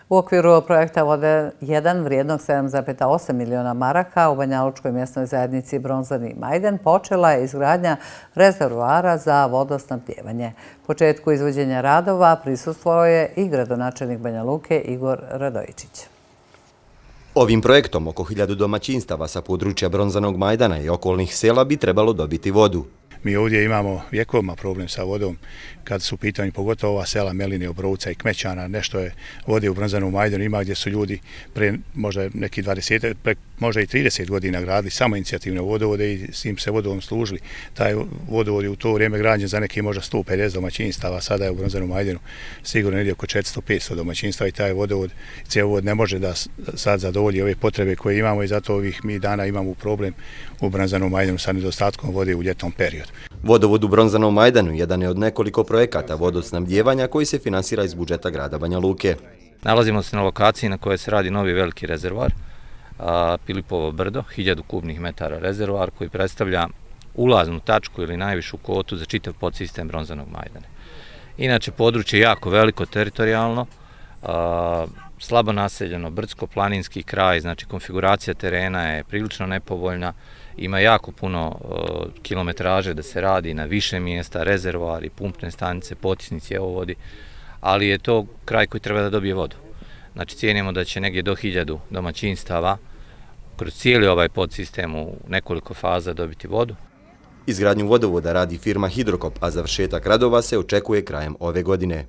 U okviru projekta Vode 1 vrijednog 7,8 miliona maraka u Banjalučkoj mjesnoj zajednici Bronzani Majden počela je izgradnja rezervoara za vodosnabdijevanje. Početku izvođenja radova prisustvovao je i gradonačelnik Banja Luke Igor Radojičić. Ovim projektom oko 1000 domaćinstava sa područja Bronzanog Majdana i okolnih sela bi trebalo dobiti vodu. Mi ovdje imamo vjekovima problem sa vodom, kad su u pitanju pogotovo ova sela Meline, Obrovca i Kmećana, nešto je vode u Bronzanom Majdanu ima gdje su ljudi pre možda neki 20, možda i 30 godina gradili samo inicijativne vodovode i s njim se vodovom služili. Taj vodovod je u to vrijeme građen za neki možda 150 domaćinstava, sada je u Bronzanom Majdanu sigurno negdje oko 400-500 domaćinstava i taj vodovod, cjevovod ne može da sad zadovolji ove potrebe koje imamo i zato ovih mi dana imamo problem u Bronzanom Majdanu sa nedostatkom vode u ljetnom periodu. Vodovod u Bronzanom Majdanu jedan je od nekoliko projekata vodosnabdijevanja koji se finansira iz budžeta grada Banja Luke. Nalazimo se na lokaciji na kojoj se radi novi veliki rezervoar, Pilipovo brdo, 1000 kubnih metara rezervoar koji predstavlja ulaznu tačku ili najvišu kotu za čitav podsistem Bronzanog Majdana. Inače, područje je jako veliko teritorijalno, slabo naseljeno, brdsko-planinski kraj, znači konfiguracija terena je prilično nepovoljna, ima jako puno kilometraže da se radi na više mjesta, rezervoari, pumpne stanice, potisnici, cjevovodi, ali je to kraj koji treba da dobije vodu. Znači cijenimo da će negdje do 1000 domaćinstava kroz cijeli ovaj podsistem u nekoliko faza dobiti vodu. Izgradnju vodovoda radi firma Hidrokop, a završetak radova se očekuje krajem ove godine.